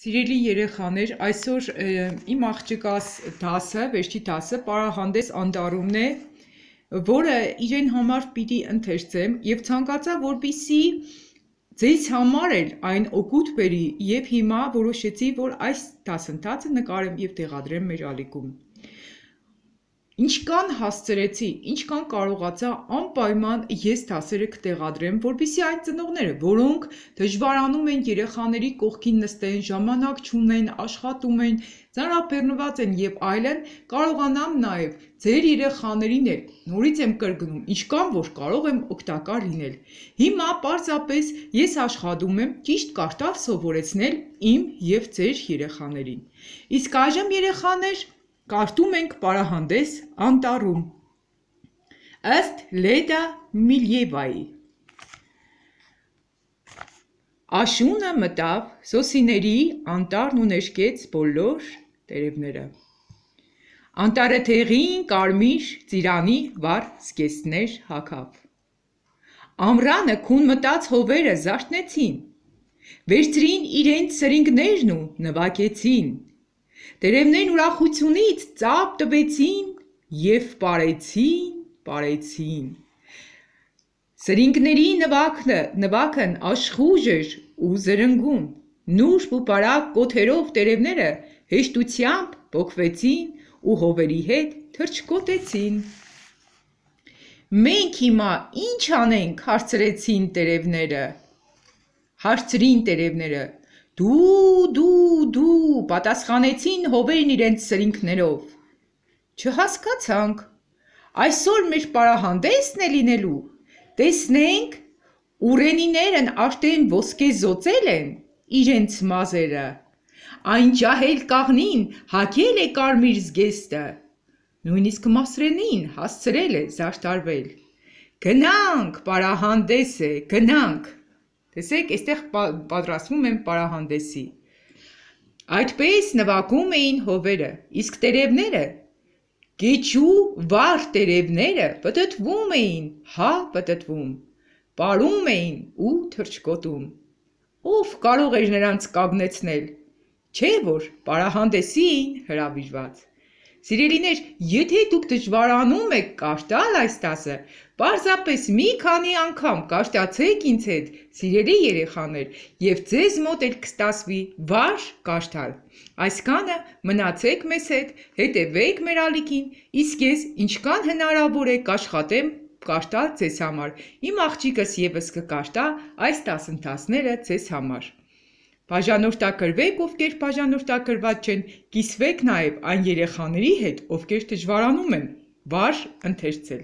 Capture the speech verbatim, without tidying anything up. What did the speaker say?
Սիրելի երեխաներ, այսօր իմ աղջկաս դասը, վերջի դասը պարահանդես անտառումն է, որը իրեն համար պիտի ընթերցեմ եւ ցանկացա, որպեսզի ձեզ համար էլ այն օգուտ բերի եւ հիմա որոշեցի, որ այս դասընթացը նկարեմ եւ տեղադրեմ մեր ալիքում։ Ինչքան հասցրեցի, ինչքան կարողացա անպայման ես դասերը կտեղադրեմ, որպեսզի այն ծնողները, որոնք դժվարանում են երեխաների կողքին նստեն, ժամանակ չունեն, աշխատում են, ծանրաբեռնված են եւ այլն, կարողանամ նաեւ ձեր երեխաներին էլ նորից եմ կրկնում, ինչքան որ կարող եմ օգտակար լինել։ Հիմա պարզապես ես աշխատում եմ ճիշտ կարդալ սովորեցնել իմ եւ ձեր երեխաներին։ Իսկ այժմ երեխաներ Կարդում ենք պարահանդես անտառում, ըստ Լեդա Միլիևայի։ Աշունը մտավ սոսիների անտառն ու ներկեց բոլոր տերևները։ Անտառը թեղին կարմիր ծիրանի վառ զգեստներ հագավ։ Ամռանը քուն մտած հովերը զարթնեցին, վերցրին իրենց սրինգներն ու նվագեցին։ Տերևներն ուրախությունից ծափ տվեցին եւ պարեցին, պարեցին։ Սրինգների նվագը, նվագն աշխուժ էր ու զրնգուն, նուրբ ու բարակ կոթերով տերևները հեշտությամբ պոկվեցին ու հովերի հետ թռչկոտեցին։ Մենք հիմա ինչ անենք, հարցրեցին տերևները։ Հարցրին տերևները։ Դու, դու, դու, պատասխանեցին հովերն իրենց սրինգներով։ Չհասկացանք, այսօր մեր պարահանդեսն է լինելու, տեսնենք, ուռենիներն արդեն ոսկե զոցել են իրենց մազերը, այն ջահել կաղնին հագել է կարմիր զգեստը, նույնիսկ մասրենին հասցրել է զարդարվել։ Գնանք, պարահանդես է, գնանք։ Տեսեք, այստեղ պատրաստվում են պարահանդեսի։ Այդպես նվագում էին հովերը, իսկ տերևները, գեչու վառ տերևները պտտվում էին, հա պտտվում, պարում էին ու թռչկոտում։ Ով կարող էր նրանց կանգնեցնել, չէ որ պարահանդեսին հրավիրված։ Սիրելիներ, եթե դուք դժվարանում եք կարդալ այս դասը, պարզապես մի քանի անգամ կարդացեք ինձ հետ, սիրելի երեխաներ, եւ ձեզ մոտ էլ կստացվի վառ կարդալ։ Այսքանը մնացեք մեզ հետ, հետևեք մեր ալիքին, իսկ ես ինչքան հնարավոր է կաշխատեմ կարդալ ձեզ համար։ Իմ աղջիկս եւս կկարդա այս դասընթացները ձեզ համար։ Բաժանորդագրվեք, ովքեր բաժանորդագրված չեն, կիսվեք նաև այն երեխաների հետ, ովքեր դժվարանում են վառ ընթերցել։